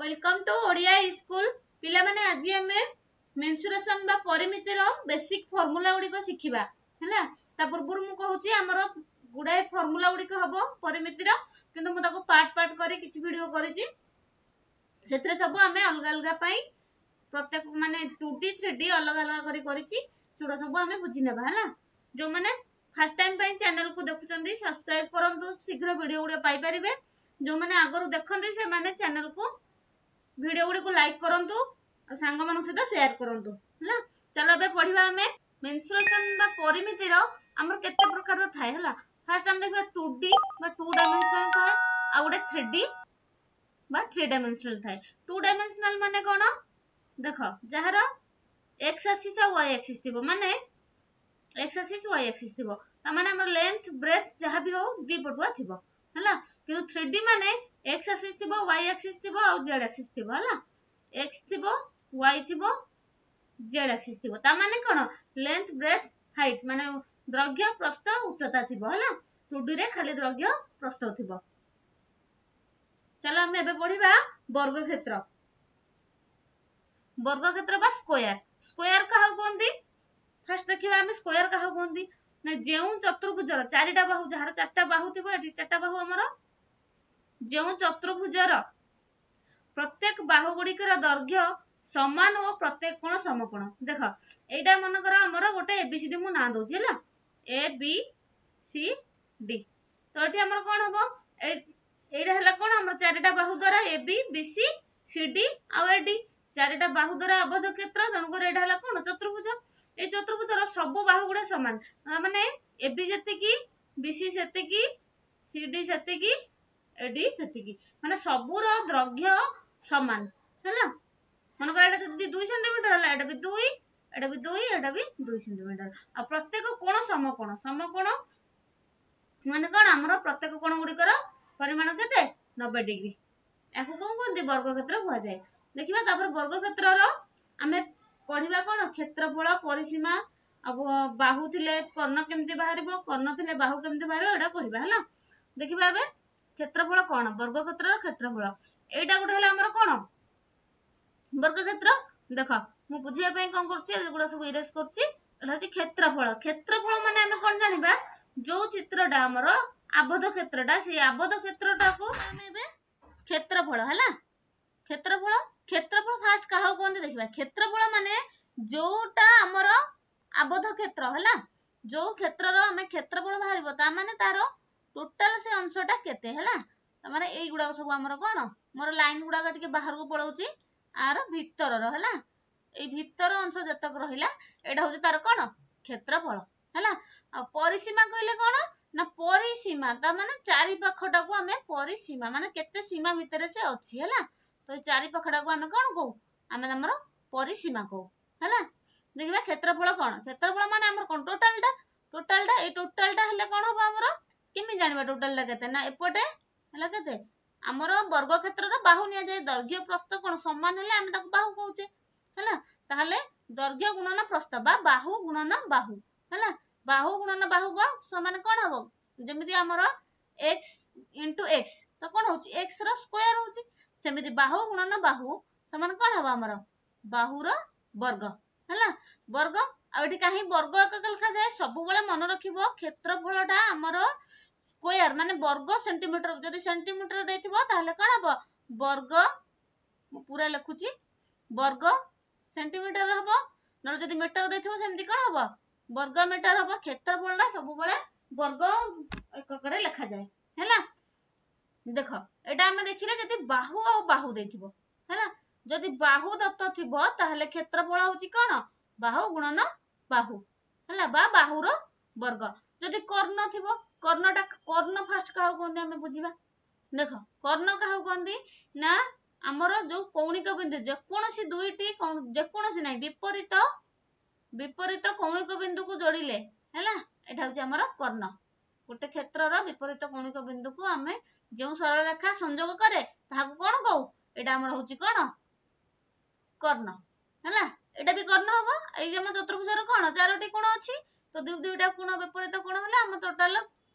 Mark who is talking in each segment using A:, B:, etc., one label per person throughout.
A: Welcome to Odia school. ପିଲାମାନେ, ଆଜି ଆମେ ମେନ୍ସୁରେସନ ବା ପରିମିତିର ବେସିକ ଫର୍ମୁଲା ଗୁଡ଼ିକ ଶିଖିବା, ହେଲା? ତା ପୂର୍ବରୁ ମୁଁ କହୁଛି, ଆମର ଗୁଡ଼ାଏ ଫର୍ମୁଲା ଗୁଡ଼ିକ ହବ ପରିମିତିର, କିନ୍ତୁ ମୁଁ ତାକୁ ପାର୍ଟ ପାର୍ଟ କରି କିଛି ଭିଡିଓ କରିଛି। ସେଥିରେ ସବୁ ଆମେ ଅଲଗା ଅଲଗା ପାଇଁ ପ୍ରତ୍ୟେକ, ମାନେ 2D, 3D ଅଲଗା ଅଲଗା କରି କରିଛି। ସେଗୁଡ଼ା ସବୁ ଆମେ ବୁଝି ନେବା, ହେଲା? ଯୋଉମାନେ ଫାର୍ଷ୍ଟ ଟାଇମ ପାଇଁ ଚ୍ୟାନେଲକୁ ଦେଖୁଛନ୍ତି, ସବସ୍କ୍ରାଇବ କରନ୍ତୁ, ଶୀଘ୍ର ଭିଡିଓ ଗୁଡ଼ିକ ପାଇପାରିବେ। ଯୋଉମାନେ ଆଗରୁ ଦେଖନ୍ତି, ସେମାନେ ଚ୍ୟାନେଲକୁ ଭିଡିଓ ଗୁଡ଼ିକୁ ଲାଇକ୍ କରନ୍ତୁ ଆଉ ସାଙ୍ଗମାନଙ୍କ ସହିତ ସେୟାର କରନ୍ତୁ, ହେଲା? ଚାଲ, ଏବେ ପଢିବା ଆମେ ମେନ୍ସୁରେସନ ବା ପରିମିତିର ଆମର କେତେ ପ୍ରକାରର ଥାଏ, ହେଲା? ଫାର୍ଷ୍ଟ ଆମେ ଦେଖିବା 2D ବା ଟୁ ଡାଇମେନ୍ସନାଲ ଥାଏ, ଆଉ ଗୋଟେ 3D ବା ଥ୍ରୀ ଡାଇମେନ୍ସନାଲ ଥାଏ। ଟୁ ଡାଇମେନ୍ସନାଲ ମାନେ କଣ? ଦେଖ, ଯାହାର ଏକ୍ସ ଆକ୍ସିସ୍ ଆଉ ୱାଇ ଆକ୍ସିସ୍ ଥିବ, ମାନେ ଏକ୍ସ ଆକ୍ସିସ୍, ୱାଇ ଆକ୍ସିସ୍ ଥିବ, ତାମାନେ ଆମର ଲେନ୍ଥ, ବ୍ରେଥ୍ ଯାହା ବି ହଉ ଦି ପଟୁଆ ଥିବ, ହେଲା? କିନ୍ତୁ 3D ମାନେ ଏକ୍ସ ଆକ୍ସିସ୍ ଥିବ, ୱାଇ ଆକ୍ସିସ୍ ଥିବ ଆଉ ଜେଡ୍ ଆକ୍ସିସ୍ ଥିବ, ହେଲା? ଏକ୍ସ ଥିବ, ୱାଇ ଥିବ, ଜେଡ୍ ଆକ୍ସିସ୍ ଥିବ। ତା ମାନେ କଣ? ଲେନ୍ଥ, ବ୍ରେଥ୍, ହାଇଟ୍, ମାନେ ଦୈର୍ଘ୍ୟ, ପ୍ରସ୍ଥ, ଉଚ୍ଚତା ଥିବ, ହେଲା? 2D ରେ ଖାଲି ଦୈର୍ଘ୍ୟ, ପ୍ରସ୍ଥ ଥିବ। ଚାଲ, ଆମେ ଏବେ ପଢିବା ବର୍ଗକ୍ଷେତ୍ର। ବର୍ଗକ୍ଷେତ୍ର ବା ସ୍କୋୟାର। ସ୍କୋୟାର କାହାକୁ କୁହନ୍ତି? ଫାର୍ଷ୍ଟ ଦେଖିବା ଆମେ ସ୍କୋୟାର କାହାକୁ କୁହନ୍ତି ନା, ଯେଉଁ ଚତୁର୍ଭୁଜର ଚାରିଟା ବାହୁ, ଯାହାର ଚାରିଟା ବାହୁ ଥିବ, ଏଠି ଚାରିଟା ବାହୁ ଆମର, ଯେଉଁ ଚତୁର୍ଭୁଜର ପ୍ରତ୍ୟେକ ବାହୁ ଗୁଡ଼ିକର ଦୈର୍ଘ୍ୟ ସମାନ ଓ ପ୍ରତ୍ୟେକ କୋଣ ସମକୋଣ। ଦେଖ, ଏଇଟା ମନେକର ଆମର ଗୋଟେ ଏବିସିଡି ମୁଁ ନାଁ ଦଉଛି, ହେଲା? ଏ ବି ସି ଡି। ତ ଏଠି ଆମର କଣ ହବ? ଏଇଟା ହେଲା କଣ? ଆମର ଚାରିଟା ବାହୁ ଦ୍ଵାରା ଏ ବି, ବି ସି, ସି ଡି ଆଉ ଏ ଡି, ଚାରିଟା ବାହୁ ଦ୍ଵାରା ଆବଦ୍ଧ କ୍ଷେତ୍ର। ତେଣୁକରି ଏଇଟା ହେଲା କଣ? ଚତୁର୍ଭୁଜ। ଏଇ ଚତୁର୍ଭୁଜର ସବୁ ବାହୁ ଗୁଡା ସମାନ, ମାନେ ଏ ବି ଯେତିକି, ବି ସି ସେତିକି, ସି ଡି ସେତିକି, ଏ ଡି ସେତିକି, ମାନେ ସବୁର ଦୈର୍ଘ୍ୟ ସମାନ, ହେଲା? ମନେକର ଏଇଟା ଯଦି 2 ସେଣ୍ଟିମିଟର ହେଲା, ଏଇଟା ବି 2, ଏଇଟା ବି 2, ଏଇଟା ବି 2 ସେଣ୍ଟିମିଟର। ଆଉ ପ୍ରତ୍ୟେକ କୋଣ ସମକୋଣ। ସମକୋଣ ମାନେ କଣ? ଆମର ପ୍ରତ୍ୟେକ କୋଣ ଗୁଡିକର ପରିମାଣ କେତେ? 90 ଡିଗ୍ରୀ। ୟାକୁ କଣ କୁହନ୍ତି? ବର୍ଗକ୍ଷେତ୍ର କୁହାଯାଏ। ଦେଖିବା, ତାପରେ ବର୍ଗକ୍ଷେତ୍ରର ଆମେ ପଢିବା କଣ? କ୍ଷେତ୍ରଫଳ, ପରିସୀମା, ଆଉ ବାହୁ ଥିଲେ କର୍ଣ୍ଣ କେମିତି ବାହାରିବ, କର୍ଣ୍ଣ ଥିଲେ ବାହୁ କେମିତି ବାହାରିବ, ଏଇଟା ପଢିବା, ହେଲା? ଦେଖିବା ଏବେ କ୍ଷେତ୍ରଫଳ କଣ, ବର୍ଗକ୍ଷେତ୍ରର କ୍ଷେତ୍ରଫଳ। ଏଇଟା ଗୋଟେ ହେଲା ଆମର କଣ? ବର୍ଗକ୍ଷେତ୍ର। ଦେଖ, ମୁଁ ବୁଝିବା ପାଇଁ କଣ କରୁଛି, ଏଗୁଡା ସବୁ ଇରେଜ କରୁଛି। ଏଟା ହଉଛି କ୍ଷେତ୍ରଫଳ। କ୍ଷେତ୍ରଫଳ ମାନେ ଆମେ କଣ ଜାଣିବା? ଯୋଉ ଚିତ୍ରଟା ଆମର ଆବଦ୍ଧ କ୍ଷେତ୍ରଟା, ସେଇ ଆବଦ୍ଧ କ୍ଷେତ୍ରଟାକୁ ଆମେ ଏବେ କ୍ଷେତ୍ରଫଳ, ହେଲା? କ୍ଷେତ୍ରଫଳ। କ୍ଷେତ୍ରଫଳ ଫାର୍ଷ୍ଟ କାହାକୁ କୁହନ୍ତି ଦେଖିବା। କ୍ଷେତ୍ରଫଳ ମାନେ ଯୋଉଟା ଆମର ଆବଦ୍ଧ କ୍ଷେତ୍ର, ହେଲା? ଯୋଉ କ୍ଷେତ୍ରର ଆମେ କ୍ଷେତ୍ରଫଳ ବାହାରିବ, ତା ମାନେ ତାର ଟୋଟାଲ ସେ ଅଂଶଟା କେତେ ହେଲା। ତା ମାନେ ଏଇଗୁଡାକ ସବୁ ଆମର କଣ? ମୋର ଲାଇନ ଗୁଡାକ ଟିକେ ବାହାରକୁ ପଳଉଛି। ଆର ଭିତରର, ହେଲା, ଏଇ ଭିତର ଅଂଶ ଯେତକ ରହିଲା, ଏଇଟା ହଉଛି ତାର କଣ? କ୍ଷେତ୍ରଫଳ, ହେଲା? ଆଉ ପରିସୀମା କହିଲେ କଣ ନା, ପରିସୀମା ତା ମାନେ ଚାରି ପାଖଟାକୁ ଆମେ ପରିସୀମା, ମାନେ କେତେ ସୀମା ଭିତରେ ସେ ଅଛି, ହେଲା? ତ ଏଇ ଚାରି ପାଖଟାକୁ ଆମେ କଣ କହୁ? ଆମେ ଆମର ପରିସୀମା କହୁ, ହେଲା? ଦେଖିବା କ୍ଷେତ୍ରଫଳ କଣ। କ୍ଷେତ୍ରଫଳ ମାନେ ଆମର କଣ? ଟୋଟାଲଟା। ଟୋଟାଲଟା, ଏଇ ଟୋଟାଲଟା ହେଲେ କଣ ହବ ଆମର? କେମିତି ଜାଣିବା ଟୋଟାଲଟା କେତେ ନା, ଏପଟେ ହେଲା କେତେ? ଆମର ବର୍ଗ କ୍ଷେତ୍ରର ବାହୁ ନିଆଯାଏ। ଦୈର୍ଘ୍ୟ, ପ୍ରସ୍ଥ କଣ ସମାନ ହେଲେ ଆମେ ତାକୁ ବାହୁ କହୁଛେ, ହେଲା? ତାହେଲେ ଦୈର୍ଘ୍ୟ ଗୁଣନ ପ୍ରସ୍ଥ ବା ବାହୁ ଗୁଣନ ବାହୁ, ହେଲା? ବାହୁ ଗୁଣନ ବାହୁ ସମାନ କଣ ହବ? ଯେମିତି ଆମର ଏକ୍ସ ଇଣ୍ଟୁ ଏକ୍ସ ତ କଣ ହଉଛି? ଏକ୍ସ ର ସ୍କୋୟାର ହଉଛି। ସେମିତି ବାହୁ ଗୁଣନ ବାହୁ ସମାନ କଣ ହବ ଆମର? ବାହୁର ବର୍ଗ, ହେଲା? ବର୍ଗ। ଆଉ ଏଠି କାହିଁ ବର୍ଗ ଏକକ ଲେଖାଯାଏ? ସବୁବେଳେ ମନେ ରଖିବ, କ୍ଷେତ୍ରଫଳଟା ଆମର ସ୍କୋୟାର ମାନେ ବର୍ଗ ସେଣ୍ଟିମିଟର। ଯଦି ସେଣ୍ଟିମିଟର ଦେଇଥିବ, ତାହେଲେ କଣ ହବ? ବର୍ଗ, ମୁଁ ପୁରା ଲେଖୁଛି, ବର୍ଗ ସେଣ୍ଟିମିଟର ହବ। ନହେଲେ ଯଦି ମିଟର ଦେଇଥିବ, ସେମିତି କଣ ହବ? ବର୍ଗ ମିଟର ହବ। କ୍ଷେତ୍ରଫଳଟା ସବୁବେଳେ ବର୍ଗ ଏକକରେ ଲେଖାଯାଏ, ହେଲା? ଦେଖ, ଏଇଟା ଆମେ ଦେଖିଲେ ଯଦି ବାହୁ ଆଉ ବାହୁ ଦେଇଥିବ, ହେଲା? ଯଦି ବାହୁ ଦତ୍ତ ଥିବ, ତାହେଲେ କ୍ଷେତ୍ରଫଳ ହଉଛି କଣ? ବାହୁ ଗୁଣନ ବାହୁ, ହେଲା, ବା ବାହୁର ବର୍ଗ। ଯଦି କର୍ଣ୍ଣ ଥିବ, କର୍ଣ୍ଣଟା, କର୍ଣ୍ଣ ଫାର୍ଷ୍ଟ କାହାକୁ କୁହନ୍ତି ଆମେ ବୁଝିବା। ଦେଖ, କର୍ଣ୍ଣ କାହାକୁ କୁହନ୍ତି ନା, ଆମର ଯୋଉ କୌଣିକ ବିନ୍ଦୁ, ଯେକୌଣସି ଦୁଇଟି, ଯେକୌଣସି ନାହିଁ, ବିପରୀତ ବିପରୀତ କୌଣିକ ବିନ୍ଦୁକୁ ଯୋଡ଼ିଲେ, ହେଲା, ଏଇଟା ହଉଛି ଆମର କର୍ଣ୍ଣ। ଗୋଟେ କ୍ଷେତ୍ରର ବିପରୀତ କୌଣିକ ବିନ୍ଦୁକୁ ଆମେ ଯେଉଁ ସରଳରେଖା ସଂଯୋଗ କରେ, ତାହାକୁ କଣ କହୁ? ଏଇଟା ଆମର ହଉଛି କଣ? କର୍ଣ୍ଣ, ହେଲା? ଏଇଟା ବି କର୍ଣ୍ଣ ହବ। ଏଇ ଯେ ଆମ ଚତୁର୍ଭୁଜର କଣ ଚାରୋଟି କୋଣ ଅଛି, ତ ଦୁଇ ଦୁଇଟା କୋଣ ବିପରୀତ କୋଣ ହେଲେ ଆମ ଟୋଟାଲ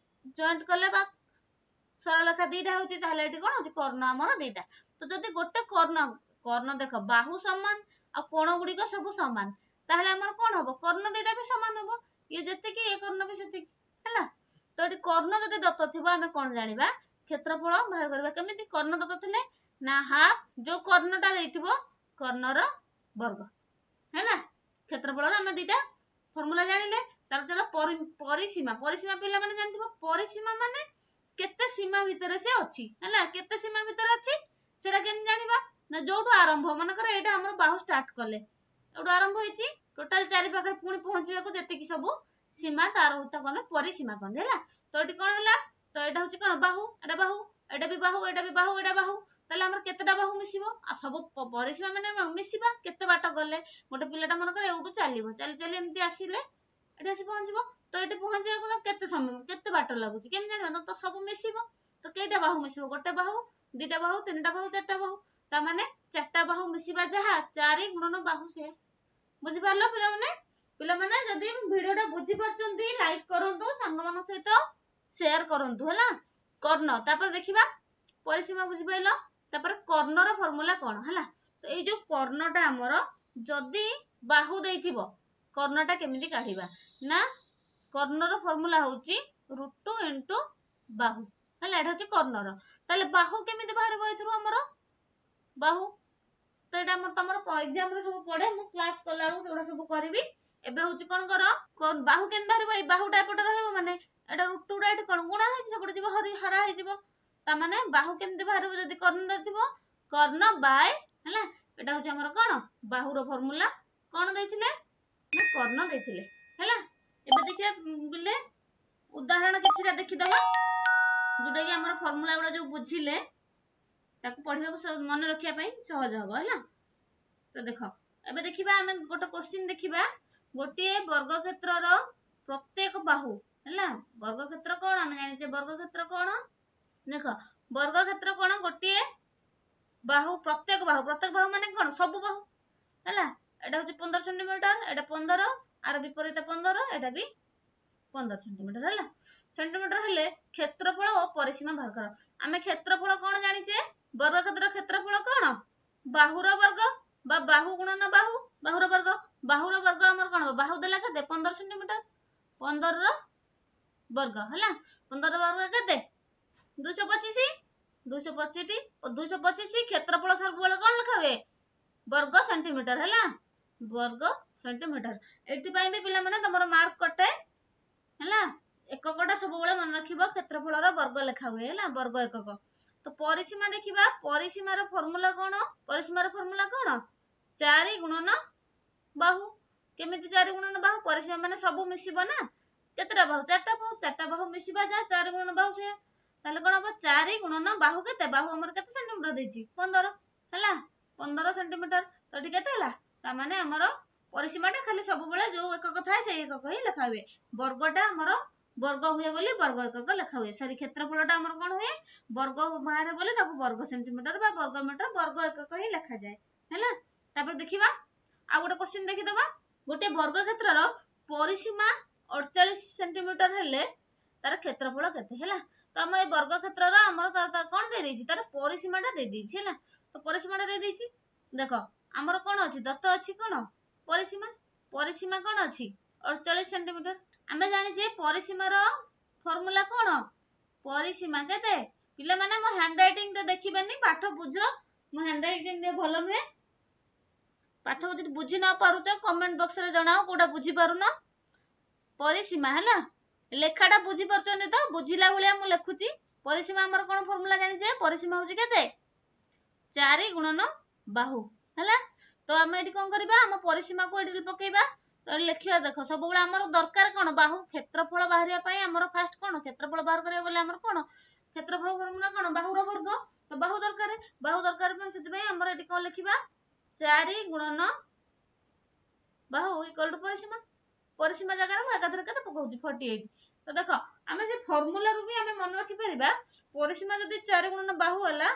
A: ଜଏଣ୍ଟ କଲେ ବା ସରଳରେଖା ଦିଟା ହଉଛି। ତାହେଲେ ଏଠି କଣ ହଉଛି? କର୍ଣ୍ଣ ଆମର ଦିଟା। ତ ଯଦି ଗୋଟେ କର୍ଣ୍ଣ, କର୍ଣ୍ଣ ଦେଖ ବାହୁ ସମାନ ଆଉ କୋଣ ଗୁଡିକ ସବୁ ସମାନ, ତାହେଲେ ଆମର କଣ ହବ? କର୍ଣ୍ଣ ଦିଟା ବି ସମାନ ହବ, ଇଏ ଯେତିକି ଏ କର୍ଣ୍ଣ ବି ସେତିକି ହେଲା। ତ ଏଠି କର୍ଣ୍ଣ ଯଦି ଦତ୍ତ ଥିବ ଆମେ କଣ ଜାଣିବା? କ୍ଷେତ୍ରଫଳ ବାହାର କରିବା କେମିତି? କର୍ଣ୍ଣ ଦତ୍ତ ଥିଲେ ନା ହାଫ ଯୋଉ କର୍ଣ୍ଣଟା ଦେଇଥିବ କର୍ଣ୍ଣର ବର୍ଗ ହେଲା। କ୍ଷେତ୍ରଫଳର ଆମେ ଦିଟା ଫର୍ମୁଲା ଜାଣିଲେ। ତାପରେ ଚାଲ ପରିସୀମା। ପରିସୀମା ପିଲାମାନେ ଜାଣିଥିବ, ପରିସୀମା ମାନେ କେତେ ସୀମା ଭିତରେ ସେ ଅଛି ହେଲା, କେତେ ସୀମା ଭିତରେ ଅଛି ସେଟା କେମିତି ଜାଣିବା ନା ଯୋଉଠୁ ଆରମ୍ଭ, ମନେକର ଏଇଟା ଆମର ବାହୁ ଷ୍ଟାର୍ଟ କଲେ ଏଇଠୁ ଆରମ୍ଭ ହେଇଛି, ଟୋଟାଲ ଚାରି ପାଖରେ ପୁଣି ପହଞ୍ଚିବାକୁ ଯେତିକି ସବୁ ସୀମା ତାର ତାକୁ ଆମେ ପରିସୀମା କହନ୍ତି ହେଲା। ତ ଏଠି କଣ ହେଲା? ତ ଏଇଟା ହଉଛି କଣ ବାହୁ, ଏଇଟା ବାହୁ, ଏଇଟା ବି ବାହୁ, ଏଇଟା ବି ବାହୁ, ଏଇଟା ବାହୁ। ତାହେଲେ ଆମର କେତେଟା ବାହୁ ମିଶିବ? ଆଉ ସବୁ ପରିସୀମା ମାନେ ମିଶିବା କେତେ ବାଟ ଗଲେ ଗୋଟେ ପିଲାଟା ମନେକର ଏଇଠୁ ଚାଲିବ, ଚାଲି ଚାଲି ଏମିତି ଆସିଲେ ଏଠି ଆସି ପହଞ୍ଚିବ। ତ ଏଠି ପହଞ୍ଚିବାକୁ ତାକୁ କେତେ ସମୟ କେତେ ବାଟ ଲାଗୁଛି କେମିତି ଜାଣିବା? ତ ସବୁ ମିଶିବ। ତ କେଇଟା ବାହୁ ମିଶିବ? ଗୋଟେ ବାହୁ, ଦିଟା ବାହୁ, ତିନିଟା ବାହୁ, ଚାରିଟା ବାହୁ। ତା ମାନେ ଚାରିଟା ବାହୁ ମିଶିବା ଯାହା 4 ଗୁଣନ ବାହୁ ସେୟା। ବୁଝିପାରିଲ ପିଲାମାନେ? ପିଲାମାନେ ଯଦି ଭିଡିଓଟା ବୁଝିପାରୁଛନ୍ତି ଲାଇକ୍ କରନ୍ତୁ, ସାଙ୍ଗମାନଙ୍କ ସହିତ ସେୟାର କରନ୍ତୁ ହେଲା। କର୍ଣ୍ଣ ତାପରେ ଦେଖିବା ପରିସୀମା ବୁଝିପାରିଲ। ତାପରେ କର୍ଣ୍ଣର ଫର୍ମୁଲା କଣ ହେଲା? ତ ଏଇ ଯୋଉ କର୍ଣ୍ଣଟା ଆମର ଯଦି ବାହୁ ଦେଇଥିବ କର୍ଣ୍ଣଟା କେମିତି କାଢିବା ନା କର୍ଣ୍ଣର ଫର୍ମୁଲା ହଉଛି √2 ଇଣ୍ଟୁ ବାହୁ ହେଲା। ଏଇଟା ହଉଛି କର୍ଣ୍ଣର। ତାହେଲେ ବାହୁ କେମିତି ବାହାରିବ ଏଥିରୁ ଆମର ବାହୁ? ତ ଏଇଟା ଆମର ତମର ଏକ୍ଜାମ ରେ ସବୁ ପଡେ, ମୁଁ କ୍ଲାସ କଲା ବେଳକୁ ସେଗୁଡା ସବୁ କରିବି। ଏବେ ହଉଛି କଣ କର, ବାହୁ କେମିତି ବାହାରିବ? ଏଇ ବାହୁଟା ଏପଟେ ରହିବ ମାନେ ଏଇଟା √2 ଟା ଏଠି କଣ ଗୁଣ ହେଇଛି, ସେପଟେ ଯିବ ହରା ହେଇଯିବ। ତାମାନେ ବାହୁ କେମିତି ବାହାରିବ ଯଦି କର୍ଣ୍ଣ ଥିବ? କର୍ଣ୍ଣ ବାଏ ହେଲା, ଏଇଟା ହଉଛି ଆମର କଣ ବାହୁର ଫର୍ମୁଲା। କଣ ଦେଇଥିଲେ ନା କର୍ଣ୍ଣ ଦେଇଥିଲେ ହେଲା। ଏବେ ଦେଖିବା ବୋଲେ ଉଦାହରଣ କିଛିଟା ଦେଖିଦବା, ଯୋଉଟା କି ଆମର ଫର୍ମୁଲା ଗୁଡା ଯୋଉ ବୁଝିଲେ ତାକୁ ପଢିବାକୁ ମନେ ରଖିବା ପାଇଁ ସହଜ ହବ ହେଲା। ତ ଦେଖ ଏବେ ଦେଖିବା ଆମେ ଗୋଟେ କୋଶ୍ଚିନ୍ ଦେଖିବା। ଗୋଟିଏ ବର୍ଗକ୍ଷେତ୍ରର ପ୍ରତ୍ୟେକ ବାହୁ ହେଲା, ବର୍ଗକ୍ଷେତ୍ର କଣ ଆମେ ଜାଣିଛେ? ବର୍ଗକ୍ଷେତ୍ର କଣ? ଦେଖ ବର୍ଗକ୍ଷେତ୍ର କଣ? ଗୋଟିଏ ବାହୁ, ପ୍ରତ୍ୟେକ ବାହୁ, ପ୍ରତ୍ୟେକ ବାହୁ ମାନେ କଣ? ସବୁ ବାହୁ ହେଲା। ଏଇଟା ହଉଛି 15 ସେଣ୍ଟିମିଟର, ଏଇଟା 15, ଆର ବିପରୀତ 15, ଏଇଟା ବି 15 ସେଣ୍ଟିମିଟର ହେଲା। ସେଣ୍ଟିମିଟର ହେଲେ କ୍ଷେତ୍ରଫଳ ଓ ପରିସୀମା ବାହାର କର। ଆମେ କ୍ଷେତ୍ରଫଳ କଣ ଜାଣିଛେ? ବର୍ଗକ୍ଷେତ୍ର କ୍ଷେତ୍ରଫଳ କଣ? ବାହୁର ବର୍ଗ ବା ବାହୁ ଗୁଣନ ବାହୁ, ବାହୁର ବର୍ଗ। ବାହୁର ବର୍ଗ ଆମର କଣ ହବ? ବାହୁ ଦେଲା କେତେ? 15 ସେଣ୍ଟିମିଟର, 15 ର ବର୍ଗ ହେଲା। 15 ବର୍ଗ କେତେ? 225, 225 225। କ୍ଷେତ୍ରଫଳ ସବୁବେଳେ କଣ ଲେଖା ହୁଏ? ବର୍ଗ ସେଣ୍ଟିମିଟର ହେଲା, ବର୍ଗ ସେଣ୍ଟିମିଟର। ଏଥିପାଇଁ ବି ପିଲାମାନେ ତମର ମାର୍କ କଟେ ହେଲା। ଏକକଟା ସବୁବେଳେ ମନେ ରଖିବ, କ୍ଷେତ୍ରଫଳର ବର୍ଗ ଲେଖା ହୁଏ ହେଲା, ବର୍ଗ ଏକକ। ତ ପରିସୀମା ଦେଖିବା, ପରିସୀମାର ଫର୍ମୁଲା କଣ? ପରିସୀମାର ଫର୍ମୁଲା କଣ? 4 ଗୁଣନ ବାହୁ। କେମିତି 4 ଗୁଣନ ବାହୁ? ପରିସୀମା ମାନେ ସବୁ ମିଶିବ ନା, କେତେଟା ବାହୁ? ଚାରିଟା ବାହୁ, ଚାରିଟା ବାହୁ ମିଶିବା ଯାହା 4 ଗୁଣନ ବାହୁ ସେୟା। ତାହେଲେ କଣ ହବ? 4 ଗୁଣନ ବାହୁ କେତେ? ବାହୁ ଆମର କେତେ ସେଣ୍ଟିମିଟର ଦେଇଛି? 15 ହେଲା, 15 ସେଣ୍ଟିମିଟର। ତ ଏଠି କେତେ ହେଲା? ତାମାନେ ଆମର ପରିସୀମାଟା ଖାଲି ସବୁବେଳେ ଯୋଉ ଏକକ ଥାଏ ସେଇ ଏକକ ହିଁ ଲେଖା ହୁଏ। ବର୍ଗଟା ଆମର ବର୍ଗ ହୁଏ ବୋଲି ବର୍ଗ ଏକକ ଲେଖା ହୁଏ। ସରି, କ୍ଷେତ୍ରଫଳଟା ଆମର କଣ ହୁଏ? ବର୍ଗ ବାହାରେ ବୋଲି ତାକୁ ବର୍ଗ ସେଣ୍ଟିମିଟର ବା ବର୍ଗ ମିଟର, ବର୍ଗ ଏକକ ହିଁ ଲେଖାଯାଏ ହେଲା। ତାପରେ ଦେଖିବା ଆଉ ଗୋଟେ କୋଶ୍ଚିନ୍ ଦେଖିଦବା। ଗୋଟେ ବର୍ଗ କ୍ଷେତ୍ରର ପରିସୀମା 48 ସେଣ୍ଟିମିଟର ହେଲେ ତାର କ୍ଷେତ୍ରଫଳ କେତେ ହେଲା? ତ ଆମ ଏଇ ବର୍ଗ କ୍ଷେତ୍ରର ଆମର କଣ ଦେଇଦେଇଛି? ତାର ପରିସୀମାଟା ଦେଇଦେଇଛି ହେଲା। ତ ପରିସୀମାଟା ଦେଇଦେଇଛି। ଦେଖ ଆମର କଣ ଅଛି? ଦତ୍ତ ଅଛି କଣ? ପରିସୀମା। ପରିସୀମା କଣ ଅଛି? 48 ସେଣ୍ଟିମିଟର। ଆମେ ଜାଣିଛେ ପରିସୀମାର ଫର୍ମୁଲା କଣ? ପରିସୀମା କେତେ? ପିଲାମାନେ ମୋ ହ୍ୟାଣ୍ଡ ରାଇଟିଂ ଟା ଦେଖିବେନି, ପାଠ ବୁଝ। ମୋ ହ୍ୟାଣ୍ଡ ରାଇଟିଂ ଟିକେ ଭଲ ନୁହେଁ, ପାଠ ଯଦି ବୁଝି ନ ପାରୁଛ କମେଣ୍ଟ ବକ୍ସରେ ଜଣାଅ କୋଉଟା ବୁଝିପାରୁନ। ପରିସୀମା ହେଲା, ଲେଖାଟା ବୁଝିପାରୁଛନ୍ତି ତ? ବୁଝିଲା ଭଳିଆ ମୁଁ ଲେଖୁଛି। ପରିସୀମା ଆମର କଣ ଫର୍ମୁଲା ଜାଣିଛେ? ପରିସୀମା ହଉଛି କେତେ? 4 ଗୁଣନ ବାହୁ ହେଲା। ତ ଆମେ ଏଠି କଣ କରିବା? ଆମ ପରିସୀମାକୁ ଏଠି ପକେଇବା। ତ ଲେଖିବା ଦେଖ ସବୁବେଳେ ଆମର ଦରକାର କଣ? ବାହୁ କ୍ଷେତ୍ରଫଳ ବାହାରିବା ପାଇଁ ଆମର ଫାଷ୍ଟ କଣ? କ୍ଷେତ୍ରଫଳ ବାହାର କରିବାକୁ ଗଲେ ଆମର କଣ? କ୍ଷେତ୍ରଫଳ ଫର୍ମୁଲା କଣ? ବାହୁର ବର୍ଗ। ତ ବାହୁ ଦରକାର, ବାହୁ ଦରକାର ପାଇଁ ସେଥିପାଇଁ ଆମର ଏଠି କଣ ଲେଖିବା? 4 ଗୁଣନ ବାହୁ ଇକ୍ୱାଲ ଟୁ ପରିସୀମା। ପରିସୀମା ଜାଗାରେ ମୁଁ ଏକାଥରେ କେତେ ପକଉଛି? 48। ତ ଦେଖ ଆମେ ସେ ଫର୍ମୁଲାରୁ ବି ଆମେ ମନେ ରଖିପାରିବା, ପରିସୀମା ଯଦି 4 ଗୁଣନ ବାହୁ ହେଲା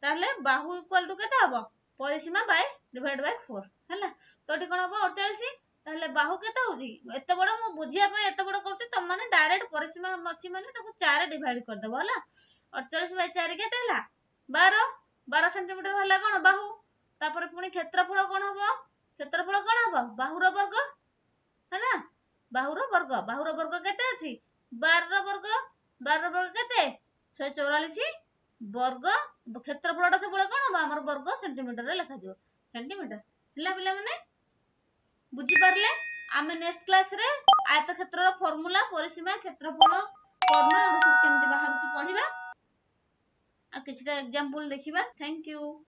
A: ତାହେଲେ ବାହୁ ଇକ୍ୱାଲ ଟୁ କେତେ ହବ? ପରିସୀମା ବାଇ ଡିଭାଇଡ ବାଇ 4 ହେଲା। ତ ଏଠି କଣ ହବ? 48। ତାହେଲେ ବାହୁ କେତେ ହଉଛି? ଏତେ ବଡ ମୁଁ ବୁଝିବା ପାଇଁ ଏତେ ବଡ କରୁଛି, ତମ ମାନେ ଡାଇରେକ୍ଟ ପରିସୀମା ଅଛି ମାନେ ତାକୁ 4 ଡିଭାଇଡ କରିଦବ ହେଲା। 48 ବାଇ 4 କେତେ ହେଲା? 12। 12 ସେଣ୍ଟିମିଟର ହେଲା କଣ ବାହୁ। ତାପରେ ପୁଣି କ୍ଷେତ୍ରଫଳ କଣ ହବ? କ୍ଷେତ୍ରଫଳ କଣ ହବ? ବାହୁର ବର୍ଗ, ହେଲା, ବାହୁର ବର୍ଗ। ବାହୁର ବର୍ଗ କେତେ ଅଛି? 12 ବର୍ଗ। 12 ବର୍ଗ କେତେ? 144 ବର୍ଗ। କ୍ଷେତ୍ରଫଳଟା ସବୁବେଳେ କଣ ହବ? ଆମର ବର୍ଗ ସେଣ୍ଟିମିଟରରେ ଲେଖାଯିବ, ସେଣ୍ଟିମିଟର। ହେଲା ପିଲାମାନେ, ବୁଝିପାରିଲେ? ଆମେ ନେକ୍ସଟ କ୍ଲାସରେ ଆୟତକ୍ଷେତ୍ରର ଫର୍ମୁଲା, ପରିସୀମା, କ୍ଷେତ୍ରଫଳ, କର୍ଣ୍ଣ ଏଗୁଡ଼ା ସବୁ କେମିତି ବାହାରୁଛି ପଢିବା, ଆଉ କିଛିଟା ଏକ୍ଜାମ୍ପଲ ଦେଖିବା। Thank you.